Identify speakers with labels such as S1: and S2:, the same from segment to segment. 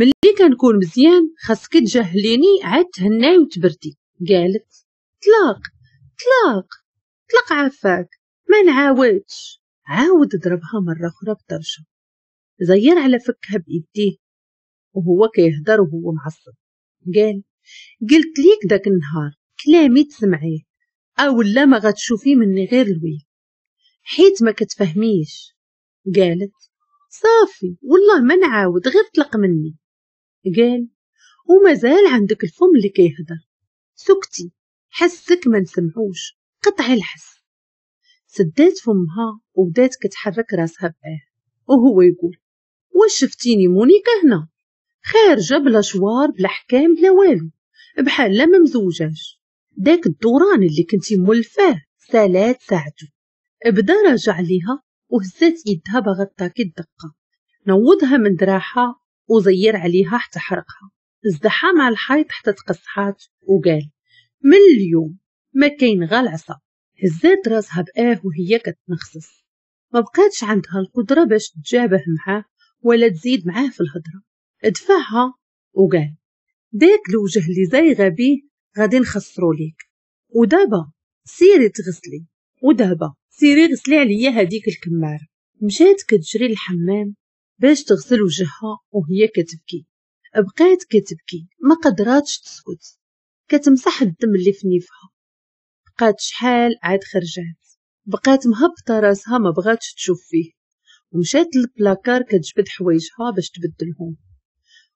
S1: ملي كنكون مزيان خاصك تجهليني عاد تهناي وتبردي. قالت طلاق طلاق طلق عافاك ما نعاودش. عاود ضربها مرة أخرى بطرشة، زير على فكها بإيديه وهو كيهدر وهو معصب. قال قلت ليك داك النهار كلامي تسمعيه أو لا ما غتشوفي مني غير الويل، حيت ما كتفهميش. قالت صافي والله ما نعاود، غير طلق مني. قال ومازال عندك الفم اللي كيهدر، سكتي حسك ما نسمعوش، قطعي الحس. سدات فمها وبدات كتحرك راسها بآه، وهو يقول واش شفتيني مونيكا هنا خارجه بلا شوار بلا حكام بلا والو، بحال لا ما مزوجاش. داك الدوران اللي كنتي مولفاه سالات ساعته. بدا راجع ليها وهزات يدها باغا تاكي الدقة، نوضها من دراعها وزير عليها حتى حرقها، ازدحها مع الحيط حتى تقصحات وقال من اليوم ما كاين غا العصا. هزات راسها بآه وهي كتنخصص، ما بقاتش عندها القدرة باش تجابه معاه ولا تزيد معاه في الهضرة. دفعها وقال داك الوجه اللي زايغه بيه غادي نخسرو ليك، ودابا سيري تغسلي، ودابا سيري غسلي عليا هذيك الكماره. مشات كتجري للحمام باش تغسل وجهها وهي كتبكي، بقات كتبكي ما قدراتش تسكت، كتمسح الدم اللي في نيفها. بقات شحال عاد خرجات، بقات مهبطه راسها ما بغاتش تشوف فيه، ومشات للبلاكار كتجبد حوايجها باش تبدلهم،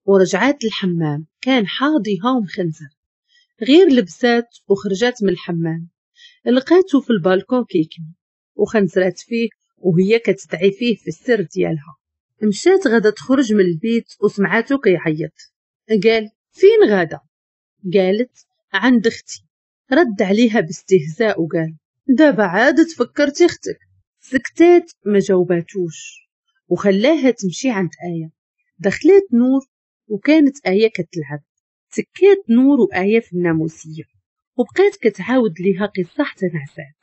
S1: ورجعات للحمام كان حاضيها ومخنزر. غير لبسات وخرجات من الحمام لقاتو في البالكون كيكمي، وخنزرات فيه وهي كتدعي فيه في السر ديالها. مشات غادا تخرج من البيت وسمعاتو كيعيط. قال فين غادا؟ قالت عند اختي. رد عليها باستهزاء وقال دابا عاد تفكرتي اختك. سكتات ما جاوباتوش وخلاها تمشي عند آية. دخلت نور وكانت آية كتلعب، سكات نور وآية في الناموسية وبقات كتعاود ليها قصة حتى نعسات،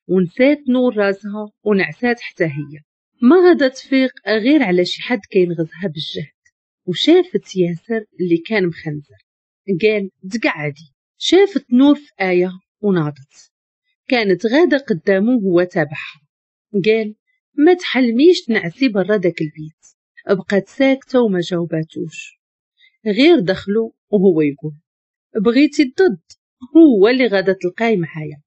S1: ونسات نور راسها ونعسات حتى هي. ما غادا تفيق غير على شي حد كينغزها بالجهد، وشافت ياسر اللي كان مخنزر. قال تقعدي. شافت نور في آية وناضت، كانت غادة قدامه وهو تابعها. قال ما تحلميش تنعسي برا داك البيت. بقات ساكتة وما جاوباتوش، غير دخلو وهو يقول بغيتي الضد هو اللي غادا تلقاي معايا.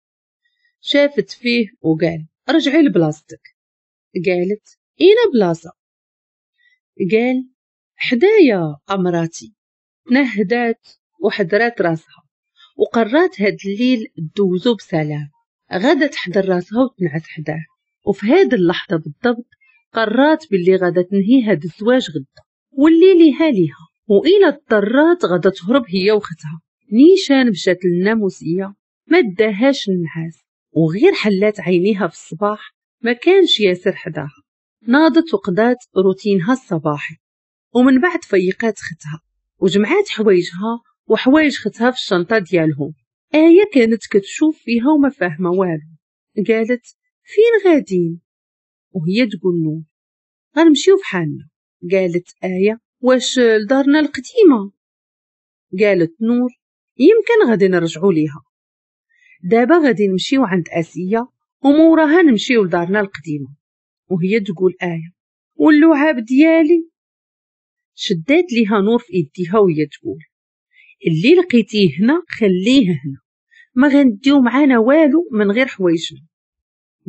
S1: شافت فيه وقال رجعي لبلاصتك. قالت اين بلاصة؟ قال حدايا امراتي. تنهدات وحضرات راسها وقررت هاد الليل دوزو بسلام. غادا تحضر راسها وتنعس حداه، وفي هاد اللحظة بالضبط قررت باللي غادا تنهي هاد الزواج غدا واللي ليها ليها، وإلا اضطرات غادا تهرب هي وختها. نيشان مشات للناموسية ما داهاش النعاس، وغير حلات عينيها في الصباح ما كانش ياسر حداها. ناضت وقضات روتينها الصباحي، ومن بعد فيقات ختها وجمعات حوايجها وحوايج ختها في الشنطة ديالهم. آية كانت كتشوف فيها وما فاهمة والو. قالت فين غادين؟ وهي تقول نور غنمشيو فحالنا. قالت آية واش لدارنا القديمة؟ قالت نور يمكن غادي نرجعو ليها، دابا غادي نمشيو عند آسية وموراها نمشيو لدارنا القديمة. وهي تقول آية واللعاب ديالي؟ شدات ليها نور في ايديها وهي تقول اللي لقيتيه هنا خليه هنا، ما غنديو معانا والو من غير حوايجنا.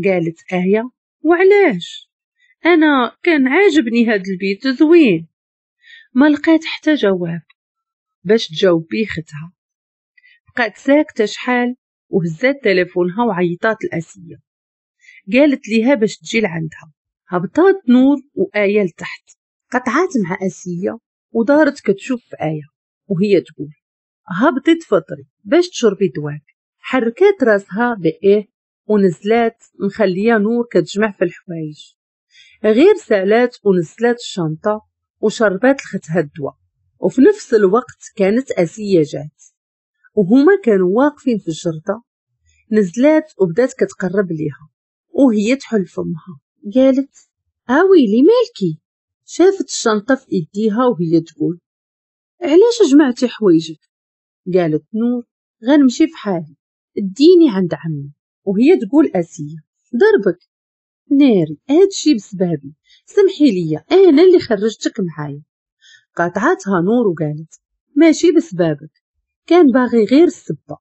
S1: قالت آية وعلاش؟ انا كان عاجبني هاد البيت زوين. ما لقات حتى جواب باش تجاوب بيه ختها. بقات ساكته شحال وهزات تليفونها وعيطات لآسية، قالت ليها باش تجي لعندها. هبطات نور وآية لتحت، قطعات مع آسية ودارت كتشوف في آية وهي تقول هبطي تفطري باش تشربي دواك. حركات راسها بإيه ونزلات مخليه نور كتجمع في الحوايج. غير سالات ونزلات الشنطة وشربات لختها الدواء. وفي نفس الوقت كانت آسية جات وهما كانوا واقفين في الجردة. نزلات وبدات كتقرب ليها وهي تحل فمها. قالت اويلي مالكي؟ شافت الشنطة في ايديها وهي تقول علاش جمعتي حوايجك؟ قالت نور غنمشي في حالي، اديني عند عمي. وهي تقول آسية ضربك؟ ناري هادشي بسبابي، سمحي لي انا اللي خرجتك معايا. قاطعتها نور وقالت ماشي بسبابك، كان باغي غير السبه.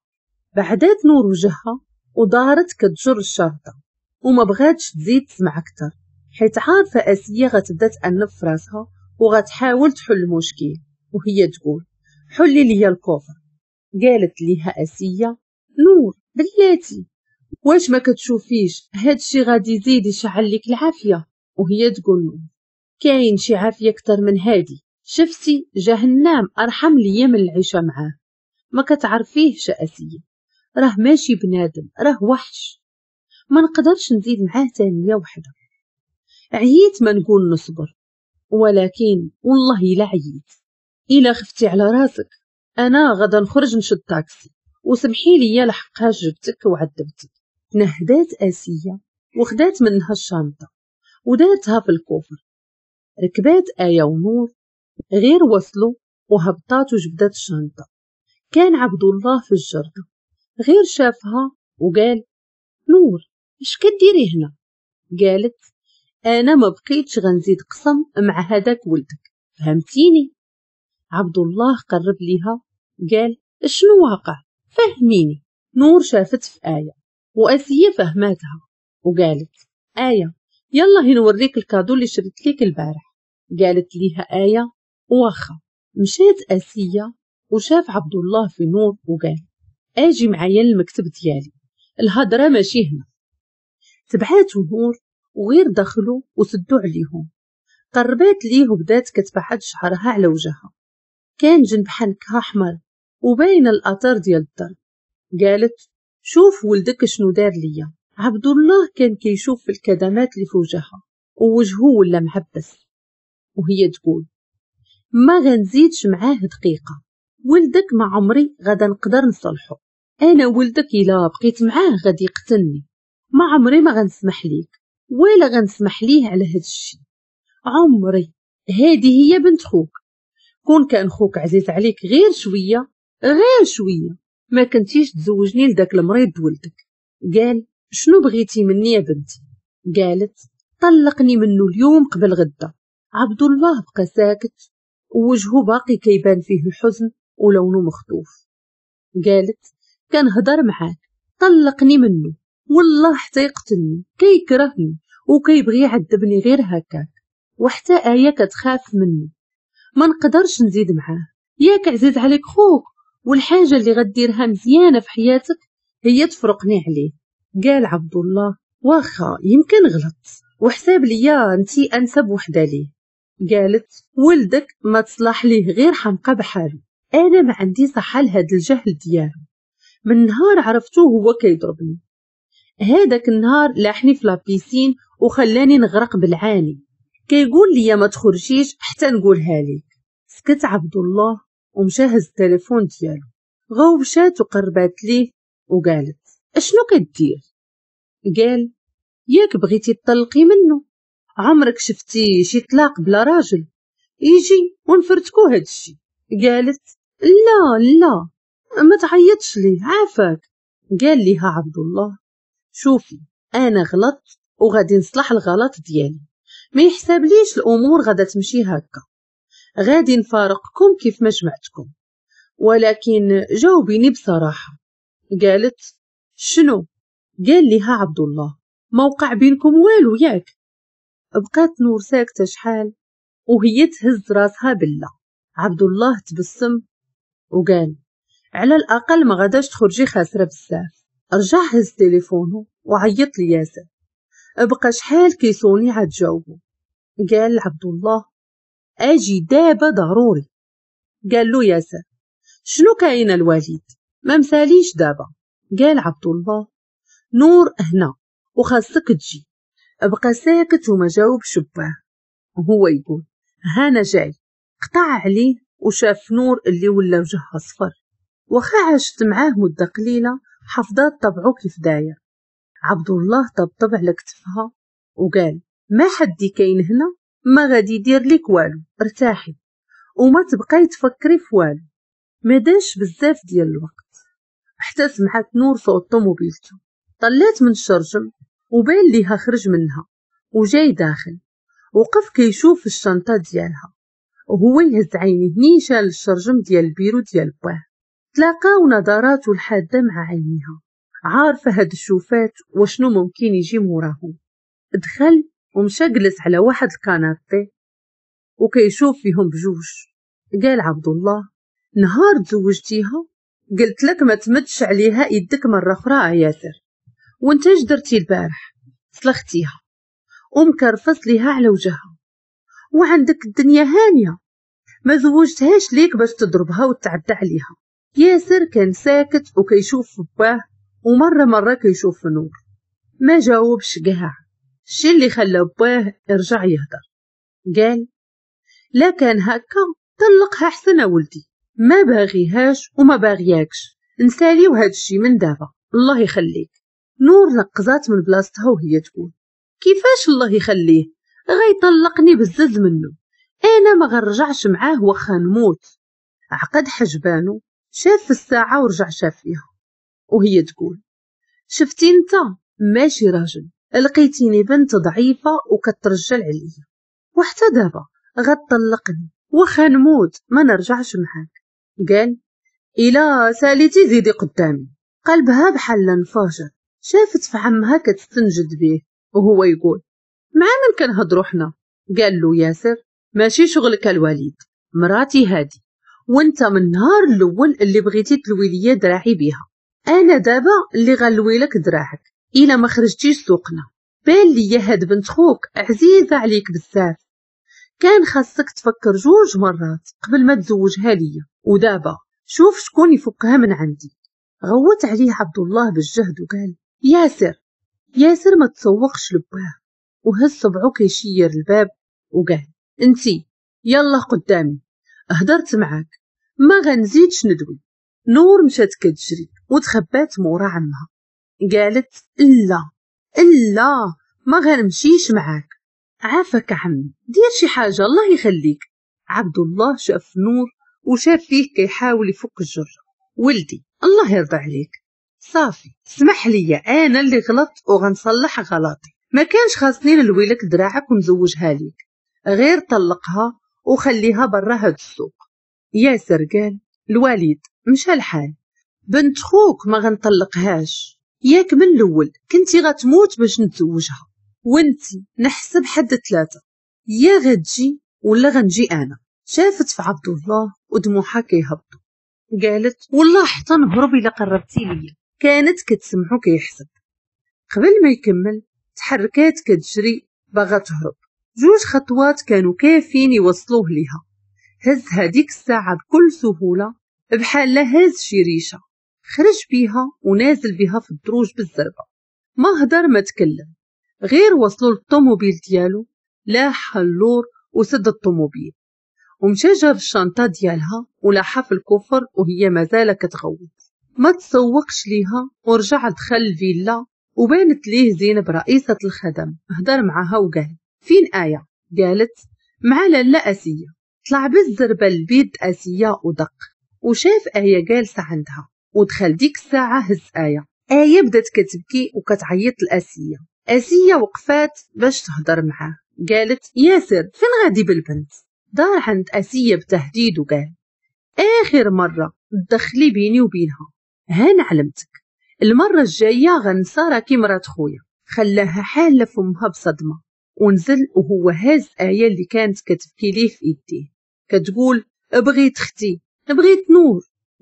S1: بعدات نور وجهها ودارت كتجر الشرطة وما بغاتش تزيد تسمع اكثر، حيت عارفه آسية غتبدا تأنف في راسها وغتحاول تحل المشكل. وهي تقول حلي لي ال coffre. قالت ليها آسية نور بلاتي، واش ما كتشوفيش هادشي غادي يزيد يشعل لك العافية؟ وهي تقول نور كاين شي عافية اكثر من هادي، شفتي جهنم ارحم ليا من العيشة معاه. ما كتعرفيهش آسية، راه ماشي بنادم، راه وحش، ما نقدرش نزيد معاه ثانية وحده. عييت ما نقول نصبر، ولكن والله الا عييت. الا خفتي على راسك انا غدا نخرج نشد طاكسي، وسمحي لي لحقاش جبتك وعذبتك. تنهدات آسية وخدات منها الشنطة ودارتها في ال coffre. ركبات آية ونور، غير وصلوا وهبطات وجبدات الشنطة. كان عبد الله في الجردة، غير شافها وقال نور اش كديري هنا؟ قالت انا ما بقيتش غنزيد قسم مع هذاك ولدك، فهمتيني؟ عبد الله قرب ليها قال شنو واقع؟ فهميني. نور شافت في آية وآسية فهماتها وقالت آية يلا نوريك ال cadeau اللي شريت ليك البارح. قالت ليها آية واخا. مشات آسية وشاف عبد الله في نور وقال اجي معايا للمكتب ديالي، الهضرة ماشي هنا. تبعاتو نور وغير دخلوا وسدوا عليهم. قربات ليه وبدات كتبعد شعرها على وجهها، كان جنب حنكها احمر وباين الاثار ديال الضرب. قالت شوف ولدك شنو دار ليا. عبد الله كان كيشوف في الكدمات اللي في وجهها ووجهه ولا معبس، وهي تقول ما غنزيدش معاه دقيقة، ولدك ما عمري غادا نقدر نصلحه، انا ولدك الا بقيت معاه غادي يقتلني، ما عمري ما غنسمح ليك ولا غنسمح ليه على هاد الشيء، عمري. هذه هي بنت خوك، كون كان خوك عزيز عليك غير شوية غير شوية ما كنتيش تزوجني لداك المريض ولدك. قال شنو بغيتي مني يا بنتي؟ قالت طلقني منه اليوم قبل غدا. عبد الله بقى ساكت ووجهه باقي كيبان فيه الحزن ولونه مخطوف. قالت كنهضر معاك طلقني منه، والله حتى يقتلني، كيكرهني وكيبغي يعذبني غير هكاك، وحتى آية كتخاف مني، ما نقدرش نزيد معاه. ياك عزيز عليك خوك، والحاجة اللي غديرها مزيانة في حياتك هي تفرقني عليه. قال عبد الله واخا يمكن غلط وحساب ليا انتي انسب وحده ليه. قالت ولدك ما تصلح ليه غير حمقى بحالو، انا ما عندي صحة لهاد الجهل ديالو، من نهار عرفتو هو كيضربني، هذاك النهار لاحني في la piscine وخلاني نغرق بالعاني، كيقول لي ما تخرجيش حتى نقولها ليك. سكت عبد الله ومشى هز التليفون ديالو، غوبشات وقربات ليه وقالت اشنو كدير؟ قال ياك بغيتي تطلقي منه، عمرك شفتي شي طلاق بلا راجل؟ يجي ونفرتكو هادشي. قالت لا لا ما تعيطش ليه عافاك. قال ليها عبد الله شوفي انا غلطت وغادي نصلح الغلط ديالي، ما يحسابليش الامور غادا تمشي هكا، غادي نفارقكم كيف ما جمعتكم، ولكن جاوبيني بصراحة. قالت شنو؟ قال لها عبد الله ما وقع بينكم والو ياك؟ بقات نور ساكته شحال وهي تهز راسها بالله. عبد الله تبسم وقال على الاقل ما غاداش تخرجي خاسرة بزاف. رجع هز تليفونه وعيط لياسر، بقى شحال كيصوني عاد جاوبو. قال عبد الله اجي دابا ضروري. قال له ياسر شنو كاين الوالد؟ ما مساليش دابا. قال عبد الله نور هنا وخاصك تجي. بقى ساكت وما جاوبش باه، وهو يقول هانا جاي. قطع عليه وشاف نور اللي ولا وجهها صفر، وخا عاشت معاه مدة قليلة حفظات طبعه كيف داير. عبد الله طبطب على كتفها وقال ما حدي كاين هنا ما غادي يدير لك والو، ارتاحي. وما تبقاي تفكري في والو. ما داش بزاف ديال الوقت حتى سمعت نور صوت طوموبيلته. طلات من الشرجم وبان ليها خرج منها وجاي داخل. وقف كيشوف الشنطة ديالها وهو يهز عينيه نيشان للشرجم ديال البيرو ديال باه. تلاقاو نظراته الحادة مع عينيها، عارفة هاد الشوفات وشنو ممكن يجي موراهم. دخل ومشى جلس على واحد ال canapé وكيشوف فيهم بجوج. قال عبد الله: نهار تزوجتيها قلت لك ما تمدش عليها يدك مرة أخرى ياسر، وانت اش درتي البارح؟ سلختيها ومكرفص ليها على وجهها، وعندك الدنيا هانية، ما زوجتهاش ليك باش تضربها وتعدى عليها. ياسر كان ساكت وكيشوف في باه ومرة مرة كيشوف في نور، ما جاوبش كاع. الشي اللي خلى باه يرجع يهدر. قال: لا كان هكا طلقها حسن ولدي، ما باغيهاش وما باغياكش، نساليو هاد الشي من دابا الله يخليك. نور نقزات من بلاصتها وهي تقول: كيفاش الله يخليه؟ غيطلقني بزز منه، انا ما غنرجعش معاه واخا نموت. عقد حجبانو، شاف في الساعة ورجع شاف فيها وهي تقول: شفتي انت ماشي راجل، لقيتيني بنت ضعيفة وكترجل عليا، وحتى دابا غتطلقني واخا نموت ما نرجعش معاك. قال: إلا ساليتي زيدي قدامي. قلبها بحال انفجر. شافت في عمها كتستنجد به وهو يقول: مع من كنهضرو حنا؟ قال له ياسر: ماشي شغلك الوليد، مراتي هادي، وانت من النهار الاول اللي بغيتي تلوي ليا دراعي بيها، انا دابا اللي غنلوي لك دراعك الا ما خرجتيش سوقنا. بان ليا هاد بنت خوك عزيزه عليك بزاف، كان خاصك تفكر جوج مرات قبل ما تزوجها ليا، ودابا شوف شكون يفكها من عندي. غوت عليه عبد الله بالجهد وقال: ياسر. ياسر ما تسوقش لباه وهز صبعو كيشير الباب وقال: انتي يلا قدامي، هدرت معاك ما غنزيدش ندوي. نور مشات كتجري وتخبات مورا عمها. قالت: لا لا ما غنمشيش معاك، عافاك عمي دير شي حاجة الله يخليك. عبد الله شاف نور وشاف فيه كيحاول يفك الجرة. ولدي الله يرضى عليك، صافي اسمح لي انا اللي غلطت وغنصلح غلطي، ما كانش خاصني نلوي لك دراعك ونزوجها ليك، غير طلقها وخليها برا هاد السوق. ياسر قال: الوليد مشى الحال، بنت خوك ما غنطلقهاش، ياك من الاول كنتي غتموت باش نتزوجها، وانتي نحسب حد 3، يا غتجي ولا غنجي انا. شافت في عبد الله ودموعها كيهبطوا. قالت: والله حتى نهرب الا قربتي ليا. كانت كتسمعو كيحسب. قبل ما يكمل تحركات كتجري باغا تهرب. جوج خطوات كانوا كافيين يوصلوه ليها. هز هذيك الساعة بكل سهولة بحال لا هز شي ريشة، خرج بيها ونازل بها في الدروج بالزربة، ما هدر ما تكلم، غير وصلوا للطوموبيل ديالو لاح اللور وسد الطوموبيل ومشى جاب الشنطة ديالها ولاحها في ال coffre وهي مازال كتغوت. ما تسوقش ليها ورجع دخل الفيلا وبانت ليه زينب رئيسة الخدم. هدر معها وقال: فين آية؟ قالت: مع لاله آسية. طلع بالزربة لبيت آسية ودق وشاف آية جالسة عندها ودخل. ديك الساعة هز آية. آية بدات كتبكي وكتعيط لآسية. آسية وقفات باش تهضر معاه. قالت: ياسر فين غادي بالبنت؟ دار عند آسية بتهديد وقال: آخر مرة تدخلي بيني وبينها، هانا علمتك، المرة الجاية غنسى راكي مرات خويا. خلاها حالة فمها بصدمة ونزل وهو هاز آية اللي كانت كتبكي ليه في ايديه، كتقول: بغيت اختي، بغيت نور.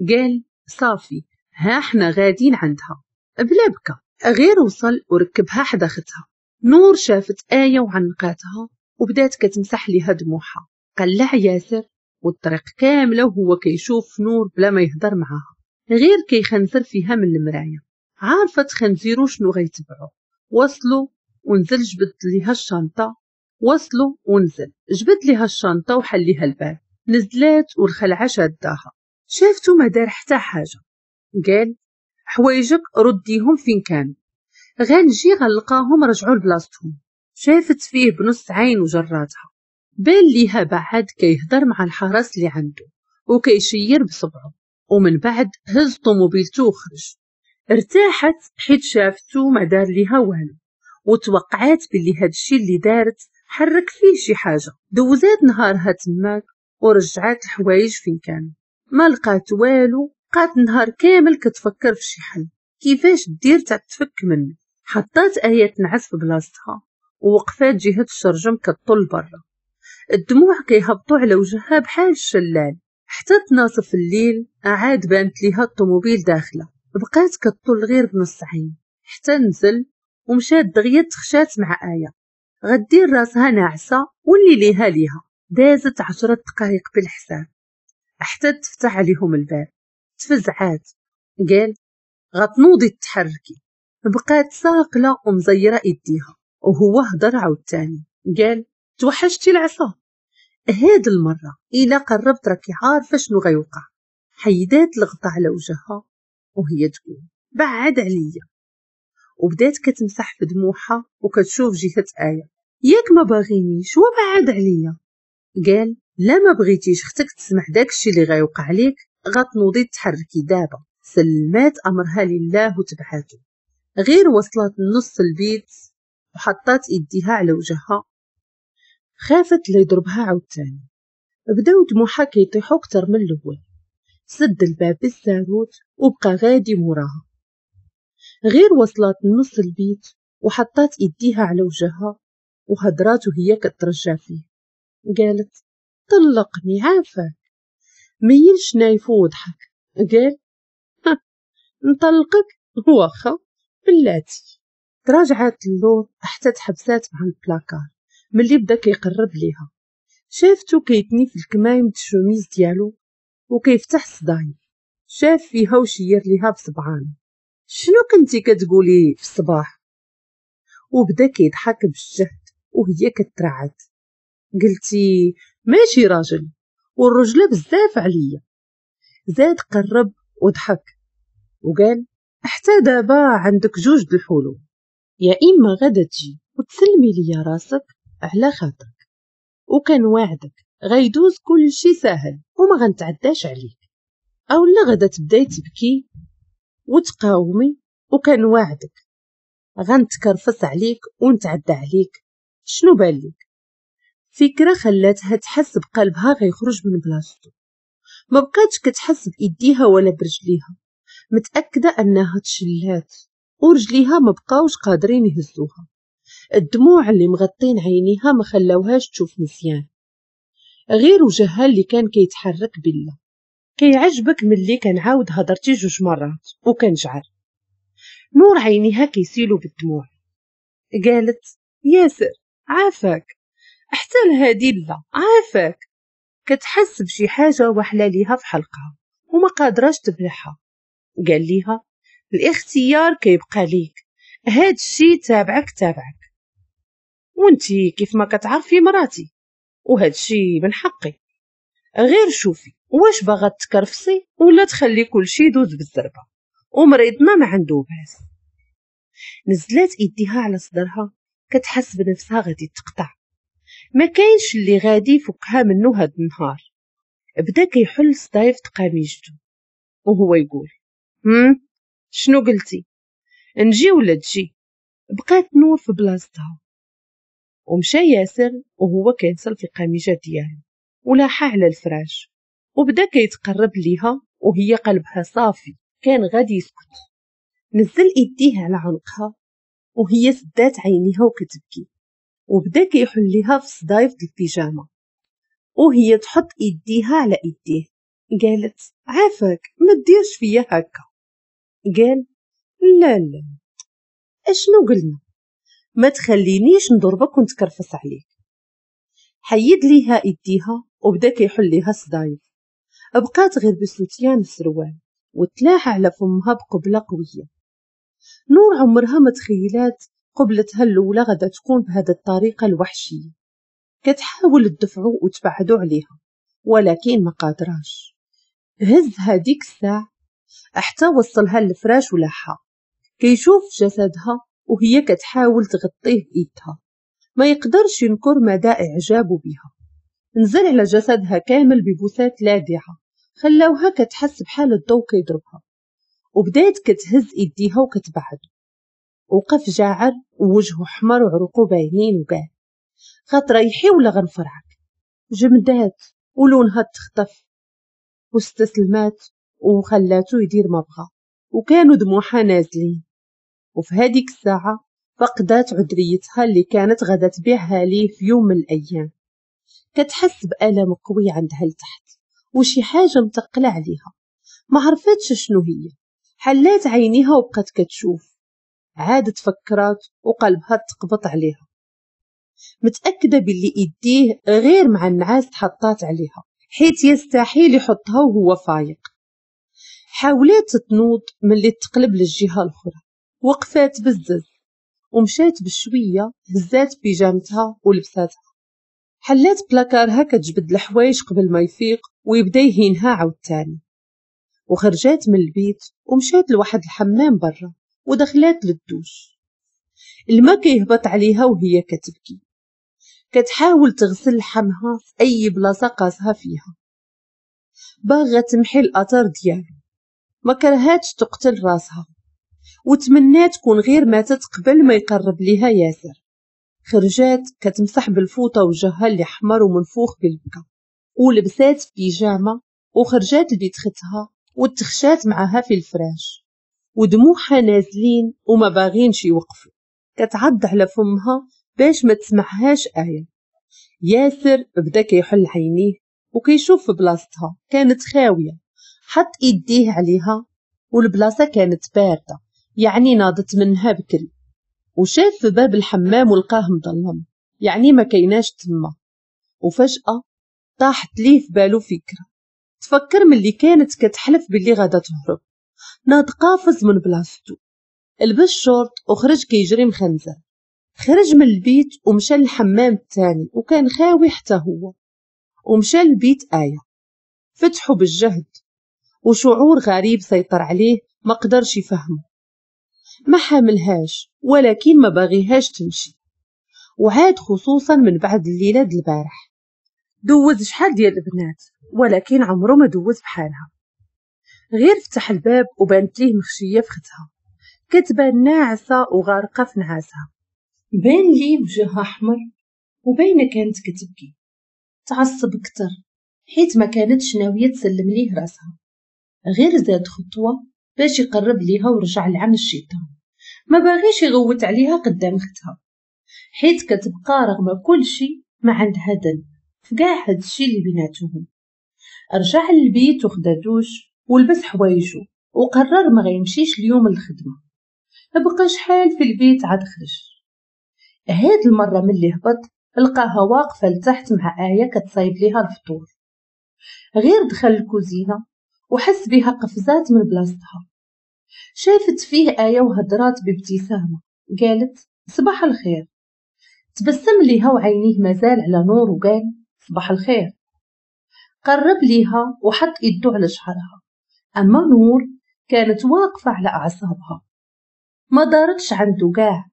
S1: قال: صافي ها احنا غاديين عندها بلا بكا. غير وصل وركبها حدا اختها. نور شافت آية وعنقاتها وبدات كتمسح ليها دموعها. قلع ياسر والطريق كاملة وهو كيشوف نور بلا ما يهضر معاها، غير كيخنزر فيها من المراية، عارفة تخنزيرو شنو غيتبعو. وصلوا ونزل جبد ليها الشنطة، وصلوا ونزل جبد ليها الشنطة وحل ليها الباب. نزلات والخلعة شاداها، شافتو ما دار حتى حاجة. قال: حوايجك رديهم فين كانوا، غنجي غنلقاهم رجعوا لبلاصتهم. شافت فيه بنص عين وجراتها. بان ليها بعد كيهضر مع الحرس اللي عنده وكيشير بصبعه، ومن بعد هز طوموبيلته وخرج. ارتاحت حيت شافتو ما دار ليها والو، وتوقعات باللي هادشي اللي دارت حرك فيه شي حاجة. دوزات نهارها تماك ورجعات الحوايج فين كانوا، ما لقات والو. بقات النهار كامل كتفكر في شي حل كيفاش دير تتفك منه. حطات آية تنعس في بلاصتها ووقفات جهة الشرجم كطل برا، الدموع كيهبطوا على وجهها بحال الشلال. حتى تناصف الليل عاد بانت ليها الطوموبيل داخله، بقات كطل غير بنص عين حتى نزل ومشات دغيا تخشات مع آية غدير راسها ناعسه واللي ليها ليها. دازت 10 دقائق بالحساب حتى تفتح عليهم الباب. تفزعات، قال غتنوضي تحركي. بقات ساقله ومزيره ايديها، وهو هضر عاوتاني قال توحشتي العصا هاد المرة، الا قربت راكي عارفه شنو غيوقع. حيدات الغطا على وجهها وهي تقول بعد عليا، وبدات كتمسح في دموعها وكتشوف جهة آية. ياك ما باغينيش وبعد عليا. قال لا ما بغيتيش اختك تسمع داكشي اللي غيوقع ليك، غتنوضي تحركي دابا. سلمات امرها لله وتبعاتو. غير وصلت نص البيت وحطات ايديها على وجهها، خافت لا يضربها عاوتاني. بداو دموعها كيطيحو اكثر من الاول. سد الباب بالساروت وبقى غادي موراها. غير وصلت نص البيت وحطات ايديها على وجهها وهضرات وهي كترجع فيه، قالت طلقني عافاك. ميل شنايفو وضحك، قال نطلقك واخا بلاتي. تراجعات اللور حتى تحبسات مع البلاكار ملي بدا كيقرب ليها. شافتو كيتني في الكمايم الشوميز ديالو وكيفتح الصدايف. شاف فيها وشير ليها بصبعان، شنو كنتي كتقولي في الصباح؟ وبدا كيضحك بالجهد وهي كترعد. قلتي ماشي راجل والرجله بزاف عليا. زاد قرب وضحك وقال حتى دابا عندك 2 د الحلول، يا اما غدا تجي وتسلمي ليا راسك على خاطرك وكان وعدك غيدوز كل شي ساهل وما غنتعداش عليك، او لا غدا تبداي تبكي وتقاومي وكان وعدك غنتكرفس عليك ونتعدى عليك. شنو بالك؟ فكرة خلاتها تحس بقلبها غيخرج من بلاصتو. ما بقاتش كتحس بايديها ولا برجليها، متأكدة انها تشلات ورجليها ما بقاوش قادرين يهزوها. الدموع اللي مغطين عينيها ما خلاوهاش تشوف مزيان، غير وجهها اللي كان كيتحرك بالله. كيعجبك ملي كنعاود هضرتي 2 مرات وكنجعر. نور عينيها كيسيلو بالدموع. قالت ياسر عافاك حتى لهادي لا عافاك. كتحس بشي حاجة وحله ليها في حلقها وما قادراش تبلعها. قال ليها الاختيار كيبقى ليك، هاد الشي تابعك تابعك، وانتي كيف ما كتعرفي مراتي وهاد الشي من حقي. غير شوفي واش باغا تكرفسي ولا تخلي كل شي يدوز بالزربه، ومريضنا ما عنده باس. نزلات ايديها على صدرها كتحس بنفسها غادي تقطع، ما كاينش اللي غادي يفكها منه هاد النهار. بدا كيحل صدايف قميجته وهو يقول شنو قلتي، نجي ولا تجي؟ بقات نور في بلاصتها ومشى ياسر وهو كينصل في القميجه ديالو ولاحها على الفراش وبدا كيتقرب ليها وهي قلبها صافي كان غادي يسكت. نزل ايديه على عنقها وهي سدات عينيها وكتبكي، وبدا كيحل ليها في صدايف البيجامه وهي تحط ايديها على ايديه. قالت عافاك ما ديرش فيا هكا. قال لا لا اشنو قلنا، ما تخلينيش نضربك ونتكرفس عليك. حيد ليها ايديها وبدا كيحل ليها صدايف. بقات غير بسوتيان السروال وتلاح على فمها بقبله قوية. نور عمرها ما تخيلات قبلتها الاولى غدا تكون بهذا الطريقة الوحشية. كتحاول تدفعو وتبعدو عليها ولكن ما قادراش. هز هذيك الساعة حتى وصلها للفراش ولاحها. كيشوف جسدها وهي كتحاول تغطيه بايدها، ما يقدرش ينكر مدى اعجابه بها. نزل على جسدها كامل ببوسات لاذعة خلاوها كتحس بحال الضوء كيضربها، وبدات كتهز ايديها وكتبعد. وقف جاعر ووجهه حمر وعروقه باينين وقال غتريحي ولا غنفرعك؟ جمدات ولونها تخطف واستسلمات وخلاته يدير ما بغى، وكانوا دموعها نازلين. وفي هذيك الساعة فقدات عذريتها اللي كانت غادا تبيعها ليه في يوم من الأيام. كتحس بألم قوي عندها لتحت وشي حاجة متقلة عليها، ما عرفتش شنو هي. حلات عينيها وبقات كتشوف، عادت فكرات وقلبها تقبط عليها، متأكدة باللي ايديه غير مع النعاس تحطات عليها، حيت يستحيل يحطها وهو فايق. حاولات تنوض ملي تقلب للجهة الأخرى، وقفات بزز ومشات بشوية، هزات بيجامتها ولبساتها، حلات بلاكارها كتجبد الحوايج قبل ما يفيق ويبدا يهينها عاوتاني. وخرجات من البيت ومشات لواحد الحمام برا ودخلات للدوش. الماء كيهبط عليها وهي كتبكي، كتحاول تغسل لحمها في اي بلاصة قاسها فيها، باغا تمحي الاثر ديالو. ما كرهاتش تقتل راسها وتمنات تكون غير ماتت قبل ما يقرب ليها ياسر. خرجات كتمسح بالفوطه وجهها اللي حمر ومنفوخ بالبكا، ولبسات بيجامه وخرجات لبيت ختها وتخشات معاها في الفراش، ودموعها نازلين وما باغينش يوقفوا. كتعض على فمها باش ما تسمعهاش آية. ياسر بدا كيحل عينيه وكيشوف في بلاصتها كانت خاوية، حط ايديه عليها والبلاصه كانت باردة، يعني ناضت منها بكري. وشاف في باب الحمام ولقاه مظلم، يعني ما كيناش تما. وفجأة طاحت ليه في بالو فكرة، تفكر ملي كانت كتحلف باللي غادا تهرب. ناض قافز من بلاصتو، لبس شورت وخرج كيجري مخنزر. خرج من البيت ومشى للحمام الثاني وكان خاوي حتى هو، ومشى لبيت آية. فتحه بالجهد وشعور غريب سيطر عليه ما قدرش يفهمه. ما حاملهاش ولكن ما باغيهاش تمشي، وعاد خصوصا من بعد الليلة د البارح. دوز شحال ديال البنات ولكن عمره ما دوز بحالها. غير فتح الباب وبانت ليه مخشيه في ختها، كتبان ناعسه وغارقه في نعاسها. بان ليه وجهها احمر وباينه كانت كتبكي. تعصب اكثر حيت ما كانتش ناوية تسلم ليه راسها. غير زاد خطوة باش يقرب ليها ورجع لعن الشيطان. ما باغيش يغوت عليها قدام اختها، حيت كتبقى رغم كل شيء ما عندها ذنب في كاع هادشي اللي بيناتهم. رجع للبيت وخدا دوش ولبس حوايجو وقرر ما غيمشيش اليوم للخدمة. بقى شحال في البيت عاد خرج. هاد المرة ملي هبط لقاها واقفة لتحت مع آية كتصايب ليها الفطور. غير دخل الكوزينة وحس بها قفزات من بلاصتها. شافت فيه آية وهضرات بابتسامة، قالت صباح الخير. تبسم ليها وعينيه مازال على نور وقال صباح الخير. قرب ليها وحط يدو على شعرها. أما نور كانت واقفة على أعصابها، ما دارتش عنده كاع.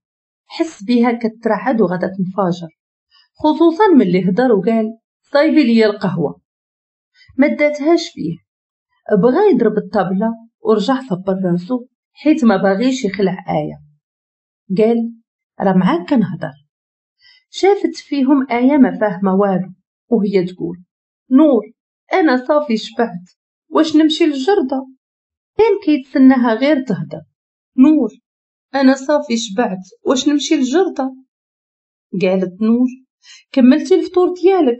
S1: حس بها كترعد وغدا تنفجر، خصوصا ملي هضر وقال صايبي لي القهوة. ما داتهاش فيه، بغى يضرب الطابلة ورجع صبر راسو حيت ما باغيش يخلع آية. قال راه معاك كنهضر. شافت فيهم آية ما فاهمة والو وهي تقول نور أنا صافي شبعت، واش نمشي للجردة؟ كان كيتسناها غير تهضر. نور أنا صافي شبعت، واش نمشي للجردة؟ قالت نور كملتي الفطور ديالك؟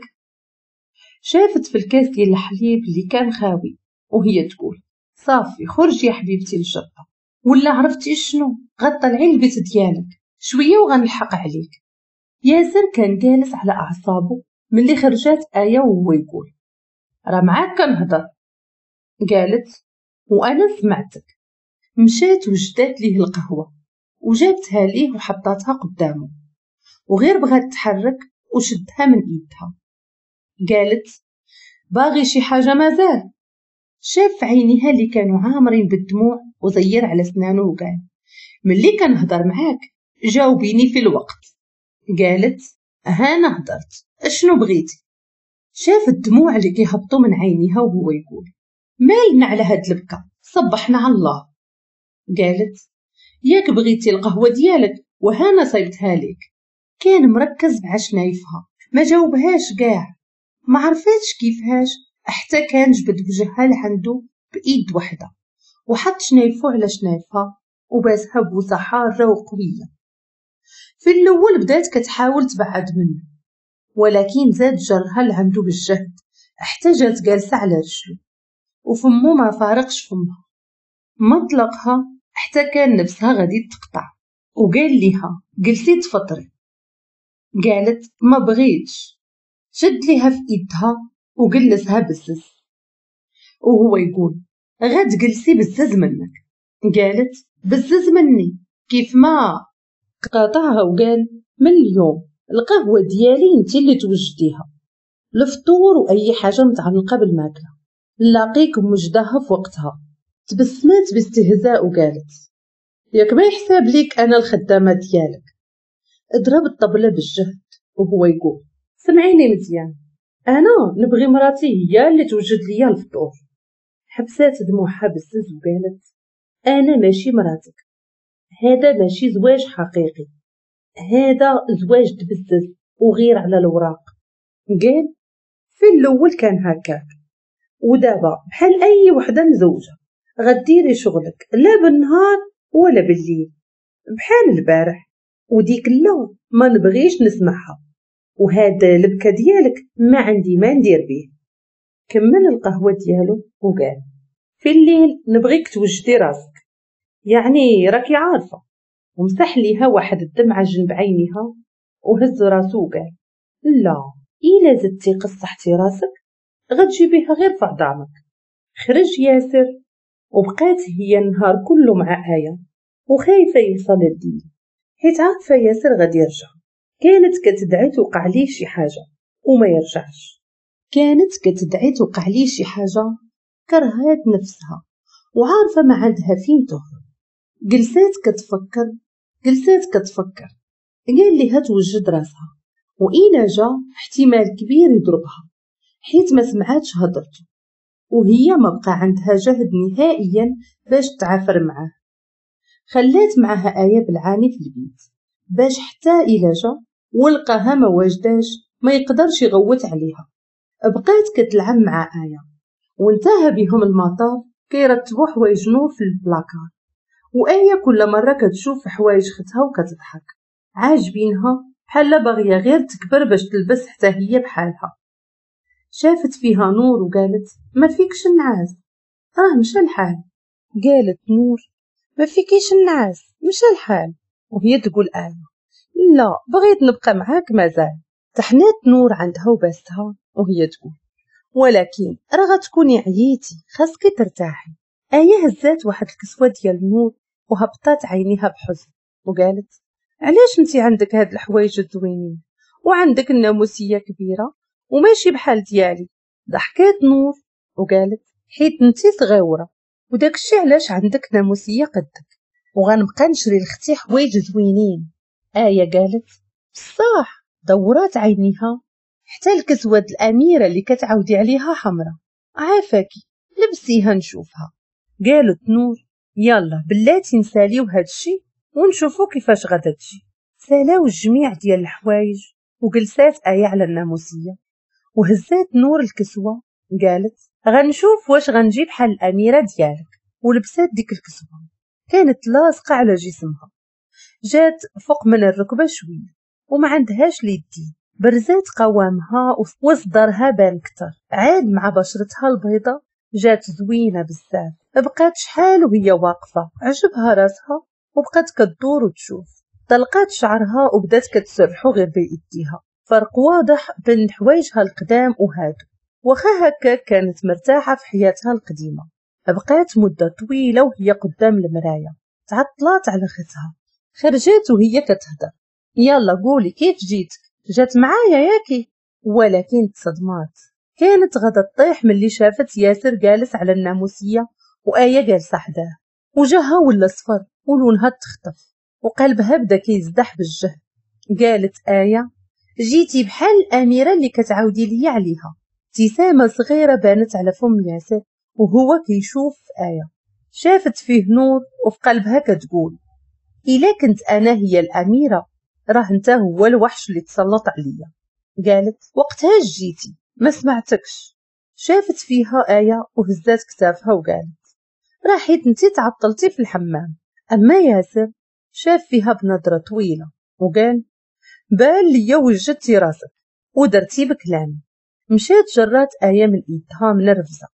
S1: شافت في الكاس ديال الحليب اللي كان خاوي وهي تقول صافي خرجي يا حبيبتي للجردة، ولا عرفتي شنو غطلعي البيت ديالك شوية وغنلحق عليك. ياسر كان جالس على اعصابه ملي خرجات آية وهو يقول راه معاك كنهضر. قالت وانا سمعتك. مشات وجدات ليه القهوة وجابتها ليه وحطاتها قدامه، وغير بغات تحرك وشدها من ايدها. قالت باغي شي حاجة مازال؟ شاف عينيها اللي كانوا عامرين بالدموع وزير على سنانه وقال ملي كنهضر معاك جاوبيني في الوقت. قالت ها انا هضرت، اشنو بغيتي؟ شاف الدموع اللي كيهبطوا من عينيها وهو يقول مالنا على هاد البكا، صبحنا على الله. قالت ياك بغيتي القهوة ديالك وهانا صيبتها لك. كان مركز مع شنايفها، ما جاوبهاش كاع، ما عرفاتش كيفاش حتى كان جبد وجهها لعندو بايد وحده وحط شنايفو على شنايفها وباسها بوسه حارة وقويه. في الاول بدات كتحاول تبعد منه، ولكن زاد جرها لعندو بالجهد حتى جات جالسة على رجلو وفمو ما فارقش فمها. ما طلقها حتى كان نفسها غادي تقطع، وقال ليها جلسي تفطري. قالت ما بغيتش. شد ليها في ايدها وجلسها بزز وهو يقول غتجلسي بزز منك. قالت بزز مني كيف ما. قاطعها وقال من اليوم القهوة ديالي انت اللي توجديها، الفطور واي حاجة متعلقة بالماكلة نلاقيك موجداها في وقتها. تبسمات باستهزاء وقالت ياك ما يحساب ليك انا الخدامة ديالك. اضرب الطبلة بالجهد وهو يقول سمعيني مزيان، انا نبغي مراتي هي اللي توجد ليا الفطور. حبسات دموعها بزز وقالت انا ماشي مراتك، هذا ماشي زواج حقيقي، هذا زواج تبزز وغير على الوراق. قال في الاول كان هكاك، ودابا بحال اي وحده مزوجه غديري شغلك لا بالنهار ولا بالليل بحال البارح، وديك لا ما نبغيش نسمعها، وهذا البكا ديالك ما عندي ما ندير به. كمل القهوة ديالو وقال في الليل نبغيك توجدي راسك، يعني راكي عارفه. ومسح ليها واحد الدمعة جنب عينيها وهز راسو وقال لا، الا زدتي قصحتي راسك غتجيبيها غير في عظامك. خرج ياسر وبقات هي النهار كله مع آية وخايفة يوصل للدين، حيت عارفه ياسر غادي يرجع. كانت كتدعي توقع ليه شي حاجة وما يرجعش، كانت كتدعي توقع ليه شي حاجة. كرهات نفسها وعارفه ما عندها فين تهرب. جلسات كتفكر، جلسات كتفكر. قال ليها توجد راسها، وإلا جا احتمال كبير يضربها حيت ما سمعاتش هضرته، وهي ما بقى عندها جهد نهائيا باش تعافر معاه. خلات معها آية بالعاني في البيت باش حتى إلا جا ولقاها ما واجداش ما يقدرش يغوت عليها. بقات كتلعب مع آية وانتهى بهم المطاف كيرتبوا حوايج نور في البلاكار، وآية كل مرة كتشوف حوايج ختها وكتضحك عاجبينها بحال باغية غير تكبر باش تلبس حتى هي بحالها. شافت فيها نور وقالت ما فيكش النعاس، راه مشى الحال. قالت نور ما فيكيش النعاس، مشى الحال. وهي تقول آية لا بغيت نبقى معاك مازال. تحنات نور عندها وباستها وهي تقول ولكن راه غتكوني عييتي خاصك ترتاحي. آية هزات واحد الكسوة ديال نور وهبطات عينيها بحزن وقالت علاش انتي عندك هاد الحوايج الزوينين وعندك الناموسيه كبيرة وماشي بحال ديالي. ضحكات نور وقالت حيت انتي صغيرة وداكشي علاش عندك ناموسيه قدك، وغنبقى نشري لختي حوايج زوينين. آية قالت بصح. دورات عينيها حتى الكسوة الأميرة اللي كتعاودي عليها حمرة، عافاكي لبسيها نشوفها. قالت نور يلا بلاتي نساليو هادشي ونشوفو كيفاش غادا تجي. سالاو الجميع ديال الحوايج وجلسات آية على الناموسية وهزات نور الكسوة. قالت غنشوف واش غنجيب بحال الأميرة ديالك. ولبسات ديك الكسوة كانت لاصقة على جسمها، جات فوق من الركبة شوية وما عندهاش اليدين، برزات قوامها وصدرها بان كتر، عاد مع بشرتها البيضة جات زوينة بزاف. بقات شحال وهي واقفة عجبها راسها وبقات كدور وتشوف. طلقات شعرها وبدات كتسرحو غير بيديها، فرق واضح بين حوايجها القدام وهادو. واخا هكا كانت مرتاحة في حياتها القديمة. بقات مدة طويلة وهي قدام المراية، تعطلات على ختها. خرجت وهي كتهدر يلا قولي كيف جيتك، جات معايا ياكي؟ ولكن تصدمات، كانت غادا تطيح ملي شافت ياسر جالس على الناموسية وآية جالسة حداه، وجهها ولا صفر ولونها تخطف وقلبها بدا كيزدح بالجهد. قالت آية جيتي بحال الأميرة اللي كتعاودي ليا عليها. ابتسامة صغيرة بانت على فم ياسر وهو كيشوف في آية. شافت فيه نور وفي قلبها كتقول إلا كنت أنا هي الأميرة راه انت هو الوحش اللي تسلط عليا. قالت وقتها جيتي ما سمعتكش. شافت فيها آية وهزات كتافها وقالت راه حيت انتي تعطلتي في الحمام. أما ياسر شاف فيها بنظرة طويلة وقال بان ليا وجدتي راسك ودرتي بكلامي. مشات جرات آية من ايدها منرفزة،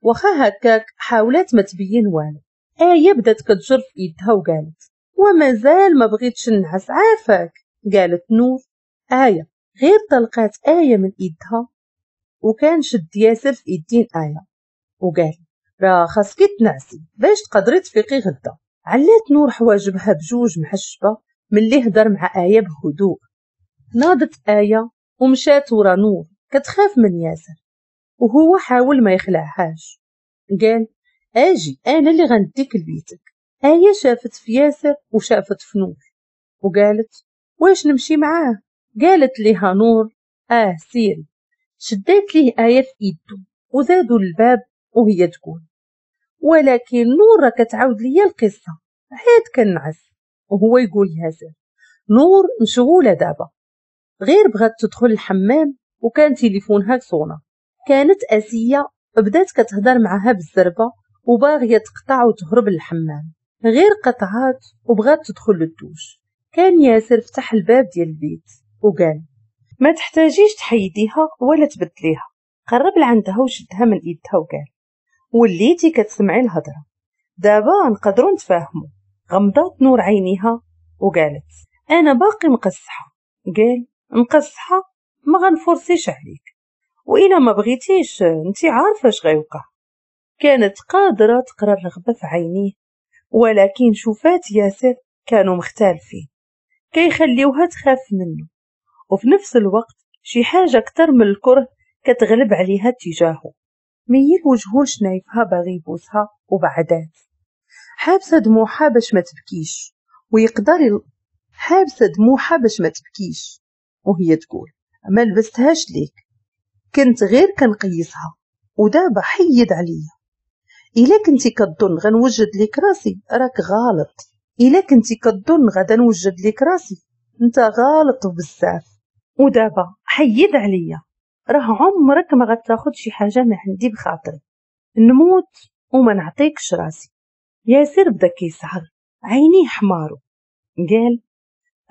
S1: واخا هكاك حاولت ما تبين والو. آية بدات كتجر في ايدها وقالت ومازال ما بغيتش نعس عافاك. قالت نور آية. غير طلقات آية من ايدها وكان شد ياسر في ايدين آية وقال راه خاصك تنعسي باش تقدري تفيقي غدا. علات نور حواجبها بجوج محشبة ملي هدر مع آية بهدوء. ناضت آية ومشات ورا نور كتخاف من ياسر، وهو حاول ما يخلعهاش. قال اجي انا اللي غنديك لبيتك. آية شافت في ياسر وشافت في نور وقالت واش نمشي معاه؟ قالت ليها نور اه سيري. شدات ليه آية في ايدو وزادوا الباب وهي تقول ولكن نور راه كتعاود ليا القصة عاد كنعس. وهو يقول ياسر نور مشغولة دابا. غير بغات تدخل الحمام وكان تليفونها صونا. كانت آسية بدات كتهضر معها بالزربة وباغية تقطع وتهرب للحمام. غير قطعات وبغات تدخل للدوش. كان ياسر فتح الباب ديال البيت وقال ما تحتاجيش تحيديها ولا تبدليها. قرب لعندها وشدها من ايدها وقال وليتي كتسمعي الهضرة دابا نقدروا نتفاهموا. غمضات نور عينيها وقالت انا باقي مقصحه. قال مقصحه ما غنفرسيش عليك، والا ما بغيتيش انت عارفه اش غيوقع. كانت قادرة تقرا الرغبة في عينيه، ولكن شوفات ياسر كانوا مختلفين كيخليوها تخاف منه، وفي نفس الوقت شي حاجة اكثر من الكره كتغلب عليها تجاهه. ميل وجهه لشنايفها باغي يبوسها وبعدات حابسه دموعها باش ما تبكيش ويقدر حابسه دموعها باش ما تبكيش وهي تقول ما لبستهاش ليك، كنت غير كنقيسها ودابا حيد عليا. الا كنتي كظن غنوجد ليك راسي راك غلط، الا كنتي كظن غادا نوجد ليك راسي انت غلط بزاف، ودابا حيد عليا راه عمرك ما غتاخد شي حاجة من عندي بخاطري، نموت وما نعطيكش راسي. ياسر بدا كيسعر عينيه حمارو قال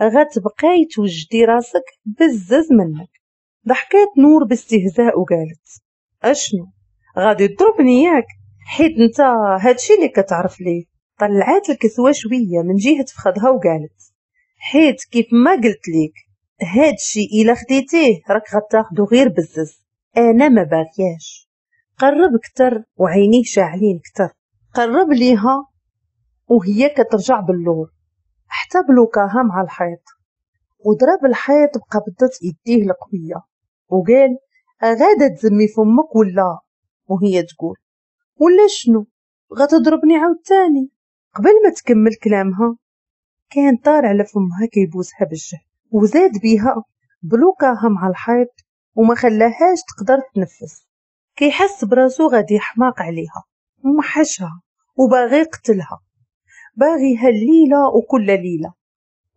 S1: غتبقاي توجدي راسك بزز منك. ضحكات نور باستهزاء وقالت اشنو غادي تضربني ياك حيت انت هادشي اللي كتعرف ليه. طلعات الكسوة شوية من جهة فخدها وقالت حيت كيف ما قلت ليك هادشي الا خديتيه راك غتاخدو غير بزز، انا ما باغياش. قرب كتر وعينيه شاعلين كتر. قرب ليها وهي كترجع باللور حتى بلوكاها مع الحيط وضرب الحيط بقبضة يديه القوية وقال غادا تزمي فمك ولا؟ وهي تقول ولا شنو غتضربني عاوتاني. قبل ما تكمل كلامها كان طار على فمها كيبوسها بالجهد وزاد بيها بلوكاها مع الحيط وما خلاهاش تقدر تنفس. كيحس براسو غادي يحماق عليها ومحشها وباغي يقتلها، باغيها الليلة وكل ليلة،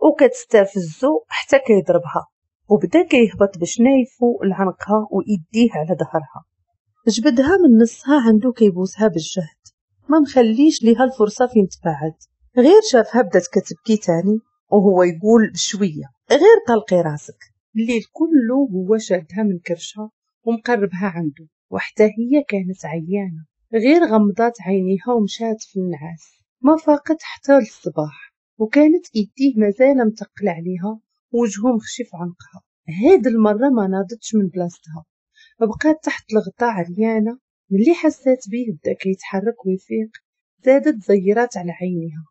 S1: وكتستفزو حتى كيضربها وبدا كيهبط بشنايفو لعنقها وايديه على ظهرها. جبدها من نصها عنده كيبوسها بالجهد ما مخليش ليها الفرصة فين تبعد. غير شافها بدات كتبكي تاني وهو يقول بشوية غير طلقي راسك. الليل كله هو شادها من كرشها ومقربها عنده، وحتى هي كانت عيانه. غير غمضات عينيها ومشات في النعاس، ما فاقت حتى للصباح، وكانت ايديه مازال متقله عليها وجهه مخشي في عنقها. هاد المرة ما ناضتش من بلاصتها، بقات تحت الغطاء عريانه. ملي حسات بيه بدا كيتحرك ويفيق زادت زيرات على عينيها،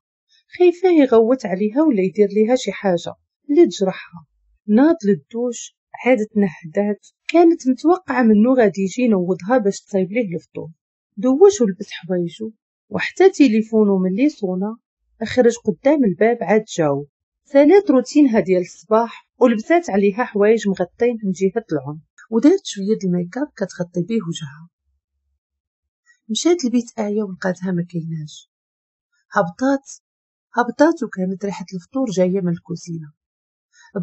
S1: خايفة يغوت عليها ولا يدير ليها شي حاجة اللي تجرحها. ناض للدوش، عادت نهدات، كانت متوقعه منه غادي يجي ينوضها باش تصايب ليه الفطور. دوش ولبس حوايجو وحتى تليفونو ملي صونا خرج قدام الباب عاد جاوب. سالات روتينها ديال الصباح ولبسات عليها حوايج مغطين من جهة العنق ودارت شوية د الميكاب كتغطي بيه وجهها. مشات لبيت آية ولقاتها ما كايناش. هبطات وكانت ريحة الفطور جاية من الكوزينة.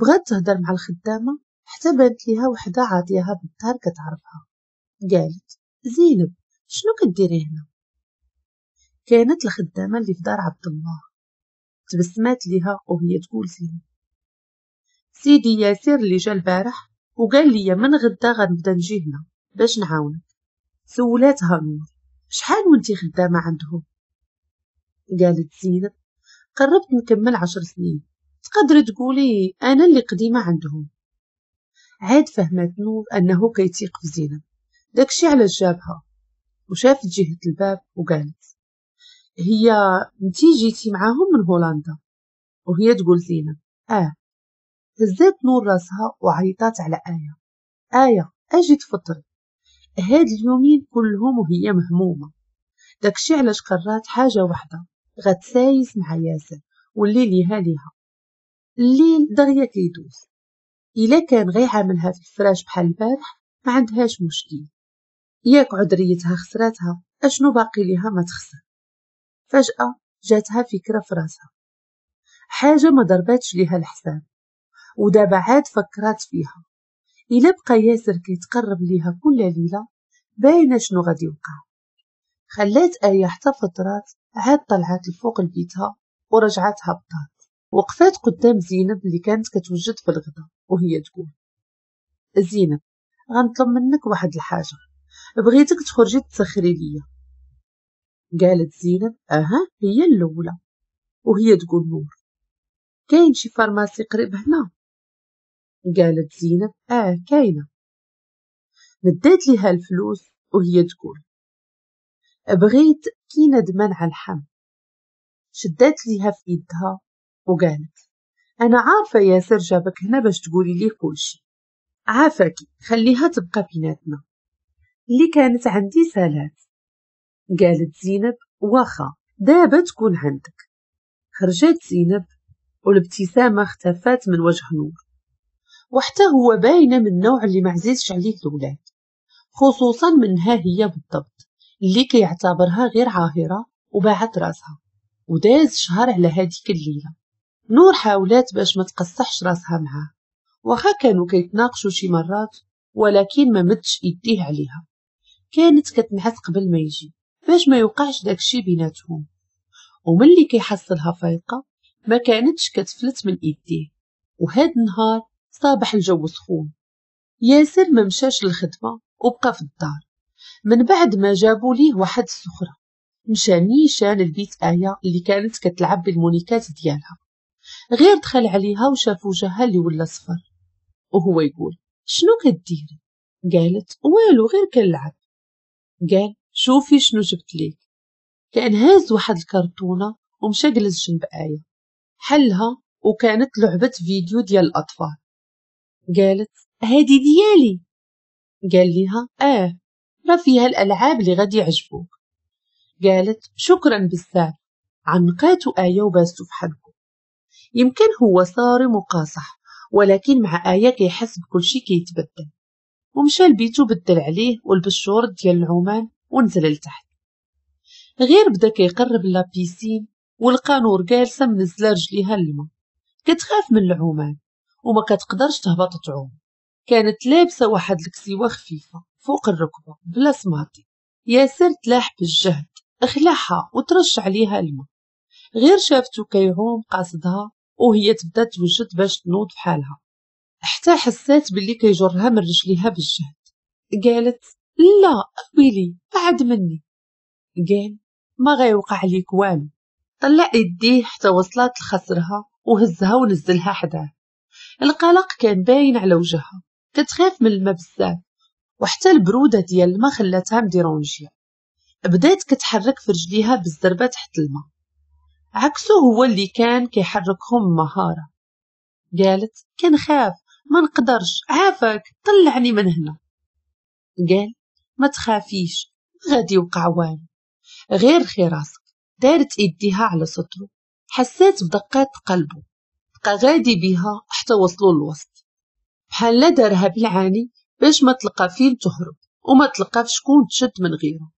S1: بغات تهضر مع الخدامة حتى بانت ليها وحدة عاطياها بالدار كتعرفها. قالت زينب شنو كديري هنا؟ كانت الخدامة اللي في دار عبد الله. تبسمات ليها وهي تقول زينب سيدي ياسر اللي جا البارح وقال لي من غدا غنبدا نجي هنا باش نعاونك. سولاتها نور شحال وانتي خدامة عندهم؟ قالت زينب قربت نكمل 10 سنين، تقدري تقولي انا اللي قديمة عندهم. عاد فهمت نور انه كيتيق في زينب، داكشي علاش جابها. وشافت جهة الباب وقالت هي انتي جيتي معاهم من هولندا؟ وهي تقول زينب اه. هزات نور راسها وعيطات على آية، آية اجي تفطري. هاد اليومين كلهم وهي مهمومة، داكشي علاش قررات حاجة واحدة، غتسايس مع ياسر واللي ليها ليها. الليل دغيا كيدوز، الا كان غير عاملها في الفراش بحال البارح ما عندهاش مشكل، ياك عذريتها خسراتها، اشنو باقي ليها ما تخسر. فجأة جاتها فكرة في راسها، حاجة ما ضرباتش ليها الحساب ودابا عاد فكرات فيها. الا بقى ياسر كيتقرب ليها كل ليلة باينة شنو غادي يوقع. خلات آية حتى فترات عاد طلعت لفوق لبيتها ورجعت هبطات. وقفات قدام زينب اللي كانت كتوجد في الغداء وهي تقول زينب غنطلب منك واحد الحاجة، بغيتك تخرجي تسخري ليا. قالت زينب اها هي الاولى. وهي تقول نور كاين شي pharmacie قريب هنا؟ قالت زينب اه كاينه. مدات ليها الفلوس وهي تقول بغيت كينة منع الحمل. شدات ليها في يدها وقالت انا عارفه ياسر جابك هنا باش تقولي ليه كلشي، عافاكي خليها تبقى بيناتنا، اللي كانت عندي سالات. قالت زينب واخا دابا تكون عندك. خرجت زينب والابتسامة اختفت من وجه نور، وحتى هو باينة من النوع اللي معزيزش عليه الولاد، خصوصا منها هي بالضبط اللي كيعتبرها غير عاهره وباعت راسها. وداز شهر على هذيك الليلة. نور حاولات باش ما تقصحش راسها معاه، واخا كانوا كيتناقشوا شي مرات ولكن ما مدش يديه عليها. كانت كتنعس قبل ما يجي باش ما يوقعش داكشي بيناتهم، وملي كيحصلها فايقه ما كانتش كتفلت من ايديه. وهاد النهار صابح الجو سخون، ياسر ما مشاش للخدمة وبقى في الدار. من بعد ما جابوا ليه واحد السخره مشى نيشان لبيت آية اللي كانت كتلعب بالمونيكات ديالها. غير دخل عليها وشاف وجهها اللي ولا صفر وهو يقول شنو كديري؟ قالت والو غير كنلعب. قال شوفي شنو جبت ليك. كان هاز واحد الكرتونه ومشى جلس جنب آية، حلها وكانت لعبة فيديو ديال الأطفال. قالت هادي ديالي؟ قال لها اه راه فيها الألعاب اللي غادي يعجبوك. قالت شكرا بزاف. عنقاتو آية وباستو في حنكو. يمكن هو صارم وقاصح ولكن مع آية كيحس بكل شي كيتبدل. ومشى لبيتو بدل عليه ولبس شورت ديال العمان ونزل لتحت. غير بدا كيقرب la piscine ولقى نور جالسة منزله رجليها للماء، كتخاف من العمان وما كتقدرش تهبط تعوم. كانت لابسه واحد الكسيوه خفيفة فوق الركبة بلا سماطي. ياسر تلاح بالجهد اخلعها وترش عليها الماء. غير شافتو كيعوم قاصدها وهي تبدا توجد باش تنوض فحالها، حتى حسات باللي كيجرها من رجليها بالجهد. قالت لا ويلي بعد مني. قال ما غيوقع ليك والو. طلع يديه حتى وصلت لخصرها وهزها ونزلها حداه. القلق كان باين على وجهها، كتخاف من الماء بزاف وحتى البرودة ديال الماء خلاتها مديرونجيه. بدات كتحرك في رجليها بالزربه تحت الماء، عكسه هو اللي كان كيحركهم مهارة. قالت كنخاف ما نقدرش، عافاك طلعني من هنا. قال ما تخافيش غادي يوقع والو، غير خي راسك. دارت ايديها على صدره، حسات بدقات قلبه، بقى غادي بيها حتى وصلوا للوسط. بحال لا دارها بالعاني باش ما تلقى فين تهرب وما تلقى في شكون تشد من غيره.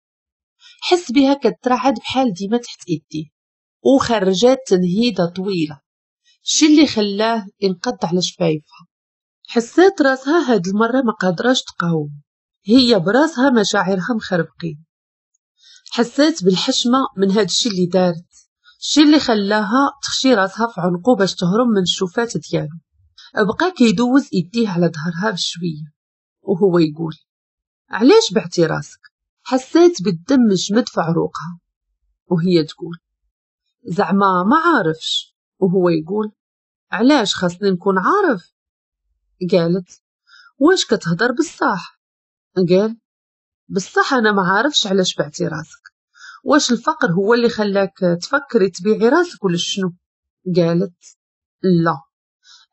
S1: حس بها كترعد بحال ديما تحت ايديه، وخرجات تنهيده طويلة، الشي اللي خلاه ينقض على شفايفها. حسات راسها هاد المرة ما قادراش تقاوم، هي براسها مشاعرها مخربقين. حسات بالحشمه من هاد الشي اللي دارت، الشي اللي خلاها تخشي راسها في عنقو باش تهرب من الشوفات ديالو. بقى كيدوز ايديه على ظهرها بشوية وهو يقول علاش بعتي راسك؟ حسات بالدم جمد في عروقها وهي تقول زعما ما عارفش، وهو يقول علاش خاصني نكون عارف؟ قالت واش كتهضر بصح؟ قال بصح انا ما عارفش علاش بعتي راسك، واش الفقر هو اللي خلاك تفكري تبيعي راسك ولا شنو؟ قالت لا،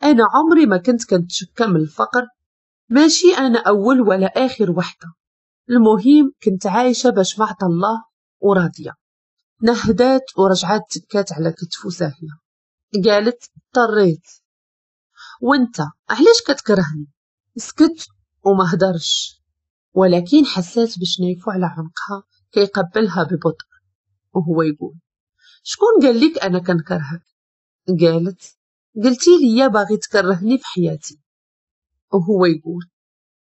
S1: انا عمري ما كنت كنتشكى من الفقر، ماشي انا اول ولا اخر وحده، المهم كنت عايشه باش ما عطى الله وراضيه. نهدات ورجعات تكات على كتفو ساهيه. قالت اضطريت. وانت علاش كتكرهني؟ سكت وما هدرش، ولكن حسات بشنيفو على عنقها كيقبلها ببطء وهو يقول شكون قال لك انا كنكرهك؟ قالت قلتي لي باغي تكرهني في حياتي، وهو يقول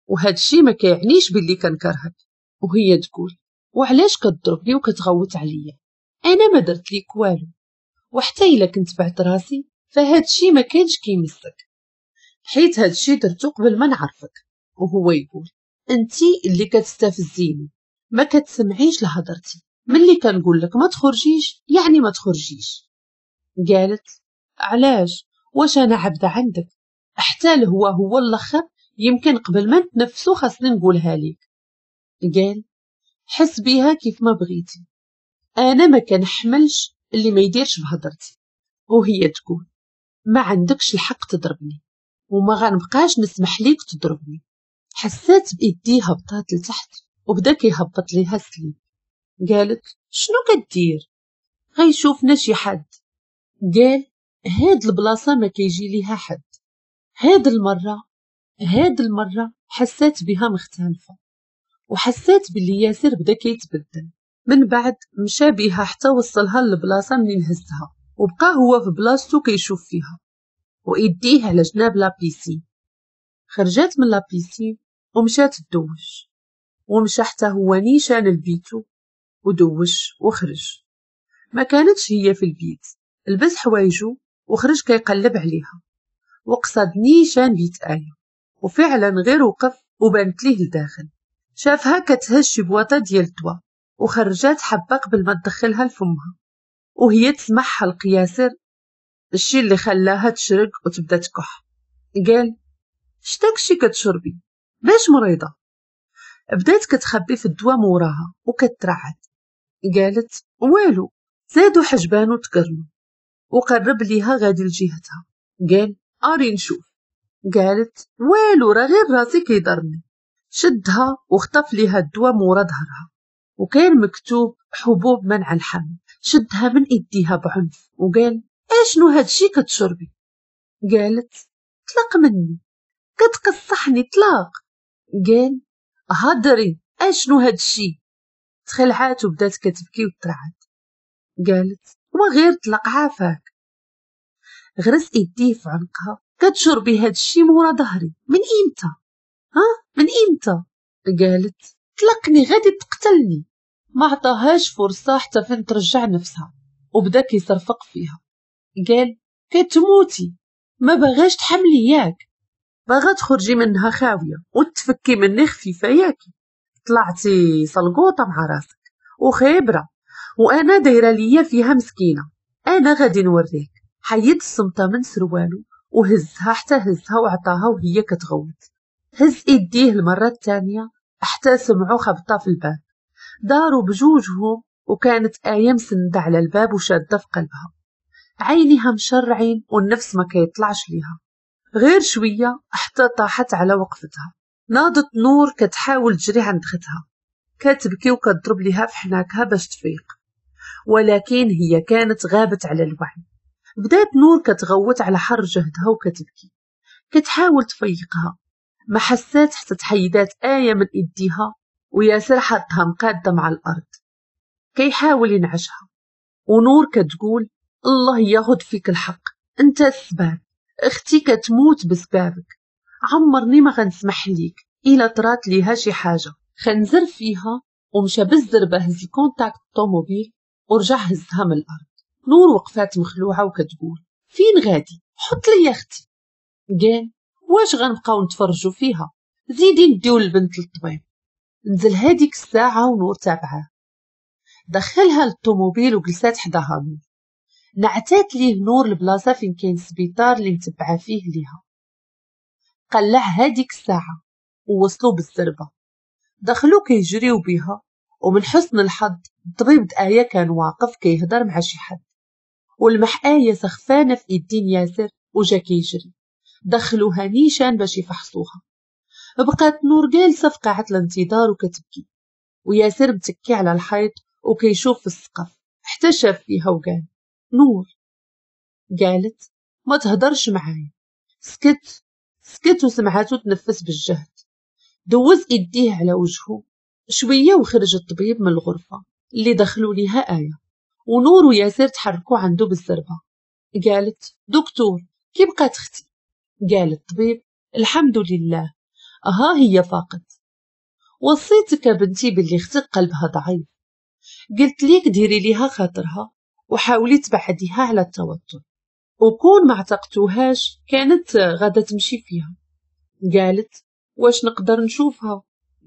S1: وهذا الشيء ما كيعنيش باللي كنكرهك. وهي تقول وعلاش كتضربني وكتغوت عليا؟ انا ما درت ليك والو، وحتى الا كنت بعت راسي فهاد الشيء ما كانش كيمسك، حيت هاد الشيء درتو قبل ما نعرفك. وهو يقول انتي اللي كتستفزيني، ما كتسمعيش لهضرتي، ملي كنقول لك ما تخرجيش يعني ما تخرجيش. قالت علاش؟ واش انا عبده عندك؟ حتى هو الاخر يمكن قبل ما نتنفسو خاصني نقولها ليك. قال حس بيها كيف ما بغيتي، انا ما كنحملش اللي ما يديرش بهضرتي. وهي تقول ما عندكش الحق تضربني وما غنبقاش نسمح ليك تضربني. حسات بايديها هبطات لتحت وبدا كيهبط ليها السليب. قالت شنو كدير؟ غيشوفنا شي حد. قال هاد البلاصة ما كيجي ليها حد. هاد المرة حسات بها مختلفة، وحسات باللي ياسر بدا كيتبدل. من بعد مشى بها حتى وصلها للبلاصه منين هزها، وبقى هو في بلاصتو كيشوف فيها وايديه على جناب la piscine. خرجت من la piscine ومشات تدوش، ومشى حتى هو نيشان لبيتو ودوش وخرج. ما كانتش هي في البيت، لبس حوايجو وخرج كيقلب عليها، وقصد نيشان بيت آية. وفعلا غير وقف وبانت ليه لداخل، شافها كتهز شي بواطه ديال الدواء وخرجات حبه قبل ما تدخلها لفمها، وهي تسمع حلق ياسر، الشي اللي خلاها تشرق وتبدا تكح. قال شتاكشي كتشربي؟ باش مريضه؟ بدات كتخبي في الدواء موراها وكترعد. قالت والو. زادو حجبانو تقرنو وقرب ليها غادي لجهتها. قال اري نشوف. قالت والو راه غير راسي كيضرني. شدها وخطف ليها الدواء مورا ظهرها، وكان مكتوب حبوب منع الحمل. شدها من ايديها بعنف وقال اشنو هادشي كتشربي؟ قالت طلق مني، كتقصحني، طلاق. قال هضري اشنو هادشي؟ تخلعات وبدات كتبكي وترعد. قالت وغير طلق عافاك. غرس ايديه في عنقها، كتشربي هادشي مورا ظهري من امتى؟ ها من امتى؟ قالت طلقني غادي تقتلني. ما عطاهاش فرصة حتى فين ترجع نفسها، وبدا كيصرفق فيها. قال كتموتي، ما بغاش تحملي ياك، باغا تخرجي منها خاوية وتفكي مني خفيفة ياكي، طلعتي صلقوطه مع راسك وخبره، وانا دايرة ليا فيها مسكينه، انا غادي نوريك. حيد الصمته من سروالو وهزها حتى هزها وعطاها وهي كتغوت. هز ايديه المرة الثانية حتى سمعوا خبطه في الباب. داروا بجوجهم وكانت آية مسندة على الباب وشادة في قلبها، عينيها مشرعين والنفس ما كيطلعش ليها. غير شوية حتى طاحت على وقفتها. ناضت نور كتحاول تجري عند ختها، كتبكي وكتضرب ليها في حناكها باش تفيق، ولكن هي كانت غابت على الوعي. بدات نور كتغوت على حر جهدها وكتبكي، كتحاول تفيقها. ما حسات حتى تحيدات آية من إيديها، وياسر حطها مقادة مع الأرض كيحاول ينعشها، ونور كتقول الله ياخد فيك الحق، انت السبب، اختي كتموت بسبابك، عمرني ما غنسمح ليك الا طرات ليها شي حاجة. خنزر فيها ومشى بالزربه هز ال contact الطوموبيل ورجع هزها من الارض. نور وقفات مخلوعه وكتقول فين غادي؟ حط لي اختي. قال واش غنبقاو نتفرجوا فيها؟ زيدي نديو البنت للطبيب. نزل هذيك الساعة ونور تابعه، دخلها للطوموبيل وجلسات حداها نور. نعتات ليه نور البلاصة فين كاين السبيطار اللي متبعة فيه ليها. قلع هذيك الساعة ووصلوا بالزربه، دخلوا كيجريو بها، ومن حسن الحظ الطبيب آية كان واقف كيهضر مع شي حد، ولمح آية سخفانه في ايدين ياسر وجا كيجري. دخلوها نيشان باش يفحصوها. بقات نور جالسة في قاعة الانتظار وكتبكي، وياسر متكي على الحيط وكيشوف في السقف حتى شاف فيها وقال نور. قالت ما تهدرش معايا. سكت وسمعاتو تنفس بالجهد. دوز ايديه على وجهه شوية وخرج الطبيب من الغرفة اللي دخلوا ليها آية، ونور وياسر تحركوا عنده بالزربه. قالت دكتور كي بقات اختي؟ قال الطبيب الحمد لله، ها هي فاقت. وصيتك بنتي باللي اختك قلبها ضعيف، قلت ليك ديري ليها خاطرها وحاولي تبعديها على التوتر، وكون ما اعتقتوهاش كانت غادا تمشي فيها. قالت واش نقدر نشوفها؟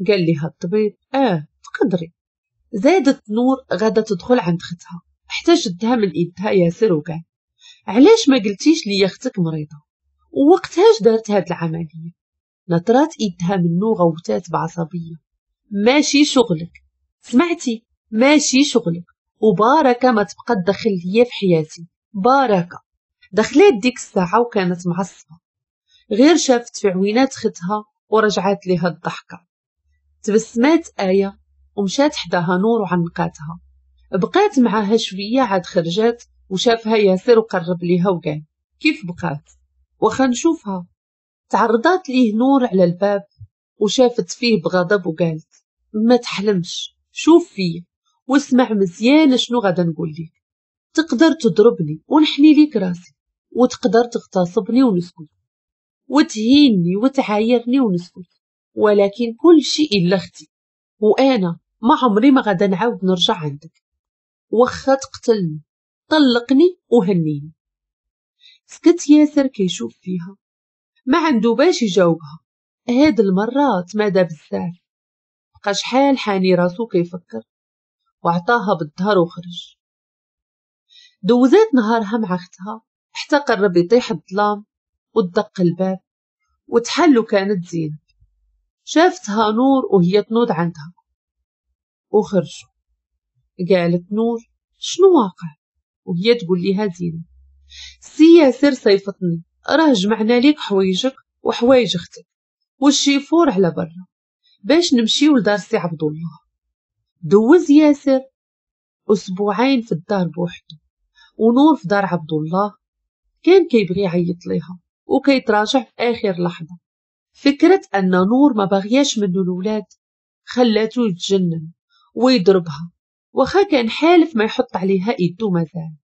S1: قال لها الطبيب تقدري. زادت نور غادا تدخل عند اختها حتى شدها من ايدها ياسر وقال علاش ما قلتيش لي اختك مريضه ووقتهاش دارت هاد العملية؟ نطرات ايدها منو غوتات بعصبيه ماشي شغلك، سمعتي؟ ماشي شغلك، وباركه ما تبقى تدخل ليا في حياتي، باركه. دخلت ديك الساعة وكانت معصبة، غير شافت في عوينات ختها ورجعت لها الضحكة. تبسمات آية ومشات حداها نور وعنقاتها، بقات معاها شوية عاد خرجات وشافها ياسر وقرب ليها وقال كيف بقات؟ واخا نشوفها. تعرضات ليه نور على الباب وشافت فيه بغضب وقالت ما تحلمش، شوف فيه واسمع مزيان شنو غادا نقول لك. تقدر تضربني ونحني ليك راسي، وتقدر تغتصبني ونسكت، وتهيني وتعايرني ونسكت، ولكن كل شيء إلا اختي، وأنا ما عمري ما غادا نعاود نرجع عندك، واخا تقتلني طلقني وهنيني. سكت ياسر كيشوف فيها ما عنده باش يجاوبها. هاد المرة تمادى بزاف، بقى شحال حاني راسو كيفكر، وعطاها بالظهر وخرج. دوزات نهارها مع اختها حتى قرب يطيح الظلام ودق الباب وتحل، وكانت زينب. شافتها نور وهي تنوض عندها وخرجوا. قالت نور شنو واقع؟ وهي تقول لها زينب سي ياسر صيفطني، راه جمعنا ليك حوايجك وحوايج اختك والشيفور على برا باش نمشيو لدار سي عبد الله. دوز ياسر اسبوعين في الدار بوحده ونور في دار عبد الله. كان كيبغي يعيط ليها وكيتراجع في اخر لحظة. فكرة ان نور ما باغياش منه الولاد خلاته يتجنن ويضربها، واخا كان حالف ما يحط عليها ايدو مازال.